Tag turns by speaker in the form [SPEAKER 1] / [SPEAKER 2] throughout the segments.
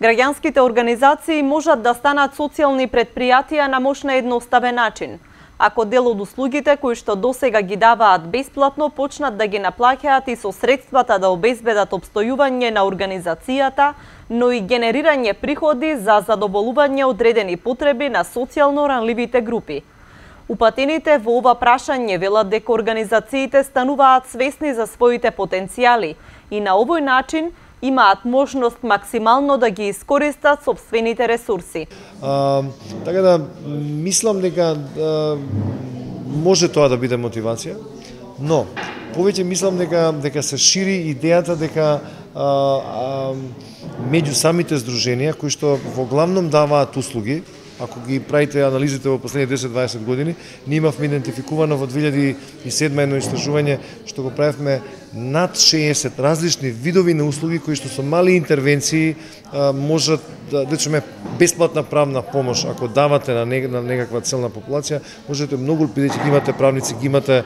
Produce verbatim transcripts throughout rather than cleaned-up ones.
[SPEAKER 1] Граѓанските организации можат да станат социјални претпријатија на мощна едноставен начин. Ако дел од услугите кои што досега ги даваат бесплатно почнат да ги наплаќаат и со средствата да обезбедат обстојување на организацијата, но и генерирање приходи за задоволување одредени потреби на социјално ранливите групи. Упатените во ова прашање велат дека организациите стануваат свесни за своите потенцијали и на овој начин имаат можност максимално да ги искористат сопствените ресурси.
[SPEAKER 2] А, така да, мислам дека а, може тоа да биде мотивација, но повеќе мислам дека дека се шири идејата дека а, а, меѓу самите здруженија кои што во главном даваат услуги, ако ги правите анализите во последните десет до дваесет години, ние имавме идентификувано во две илјади и седма едно истражување што го правевме над шеесет различни видови на услуги кои што со мали интервенции можат да речеме бесплатна правна помош ако давате на, нег, на некаква целна популација, можете многу, бидејќи ги имате правници, ги имате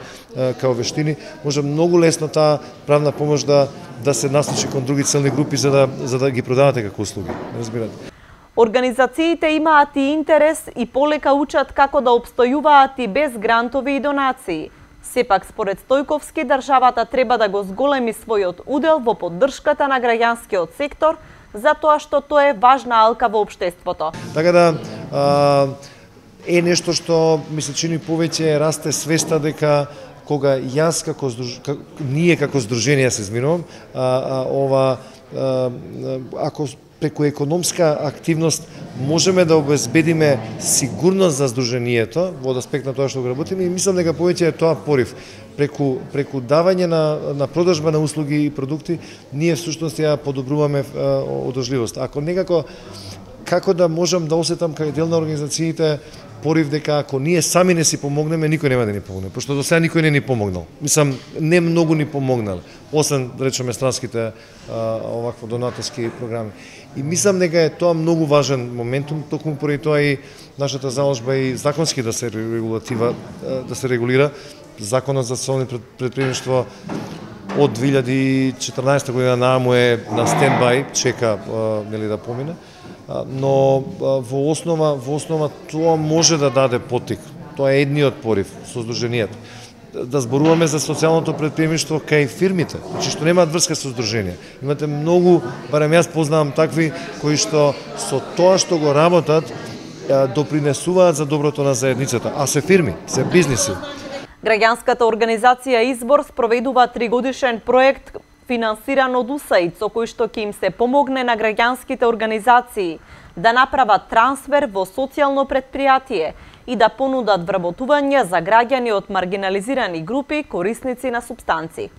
[SPEAKER 2] као вештини, може многу лесно таа правна помош да да се насочи кон други целни групи за да за да ги продавате како услуги. Разбирате?
[SPEAKER 1] Организациите имаат и интерес и полека учат како да обстојуваат и без грантови и донации. Сепак, според Стојковски, државата треба да го зголеми својот удел во поддршката на граѓанскиот сектор, затоа што тоа е важна алка во општеството.
[SPEAKER 2] Така да, а, е нешто што ми се чини повеќе расте свеста дека кога јас како, како ние како здружение се изминувам, а, а, ова а, ако преку економска активност можеме да обезбедиме сигурност за здруженијето во аспект на тоа што го работиме и мислам дека повеќе е тоа порив. Преку преку давање на на продажба на услуги и продукти ние всушност ја подобруваме одржливост. Ако некако како да можам да осетам како дел на организациите порив дека ако ние сами не си помогнеме, никој нема да ни помогне, пошто до сега никој не ни помогнал. Мислам, не многу ни помогнал, освен, да речеме, странските а, овакво донаторски програми. И мислам дека е тоа многу важен моментум, токму поради тоа и нашата заложба и законски да се регулатива, да се регулира. Законот за социјално претприемништво од две илјади и четрнаесета година нааму е на стендбај, чека нели да помине. Но во основа во основа тоа може да даде поттик. Тоа е едниот порив со здруженијата. Да зборуваме за социјалното претприемништво кај фирмите, значи што немаат врска со здруженија. Имате многу, барем јас познавам такви кои што со тоа што го работат допринесуваат за доброто на заедницата, а се фирми, се бизниси.
[SPEAKER 1] Граѓанската организација Избор спроведува тригодишен проект финансиран од УСАИД, со кој што ќе им се помогне на граѓанските организации да направат трансфер во социјално претпријатие и да понудат вработување за граѓани од маргинализирани групи корисници на супстанци.